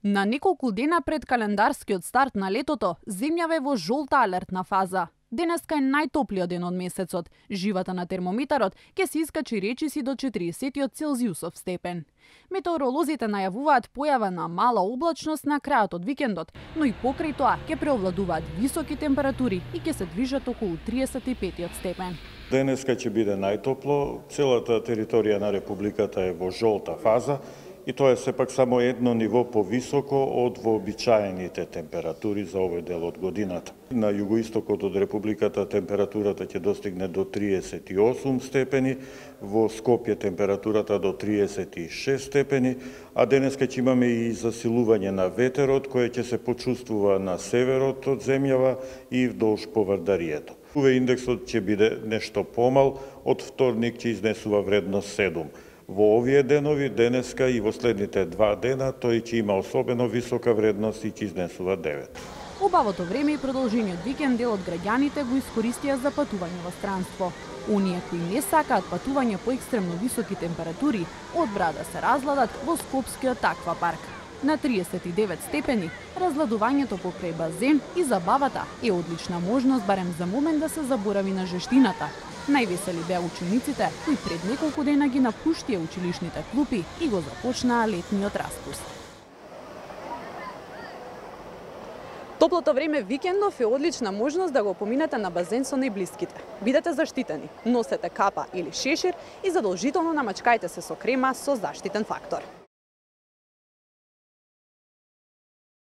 На неколку дена пред календарскиот старт на летото, земјава е во жолта алертна фаза. Денеска е најтоплиот ден од месецот. Живата на термометарот ќе се искачи речиси до 40 Целзиусов степен. Метеоролозите најавуваат појава на мала облачност на крајот од викендот, но и покрај тоа ќе преовладуваат високи температури и ќе се движат околу 35 степен. Денеска ќе биде најтопло, целата територија на Републиката е во жолта фаза и тоа е сепак само едно ниво повисоко од вообичаените температури за овој дел од годината. На југоистокот од Републиката температурата ќе достигне до 38 степени, во Скопје температурата до 36 степени, а денеска ќе имаме и засилување на ветерот кој ќе се почувствува на северот од земјава и вдолж поврдарието. Индексот ќе биде нешто помал, од вторник ќе изнесува вредност 7. Во овие денови, денеска и во следните 2 дена, тој ќе има особено висока вредност и ќе изнесува 9. Убавото време и продолжениот викенд дел од граѓаните го искористија за патување во странство. Оние кои не сакаат патување по екстремно високи температури, одбра да се разладат во скопскиот аквапарк. На 39 степени, разладувањето покрај базен и забавата е одлична можност барем за момент да се заборави на жештината. Највесели беа учениците кои пред неколку дена ги напуштија училишните клупи и го започнаа летниот распуст. Топлото време викендов е одлична можност да го поминете на базен со најблиските. Бидете заштитени, носете капа или шешир и задолжително намачкајте се со крема со заштитен фактор.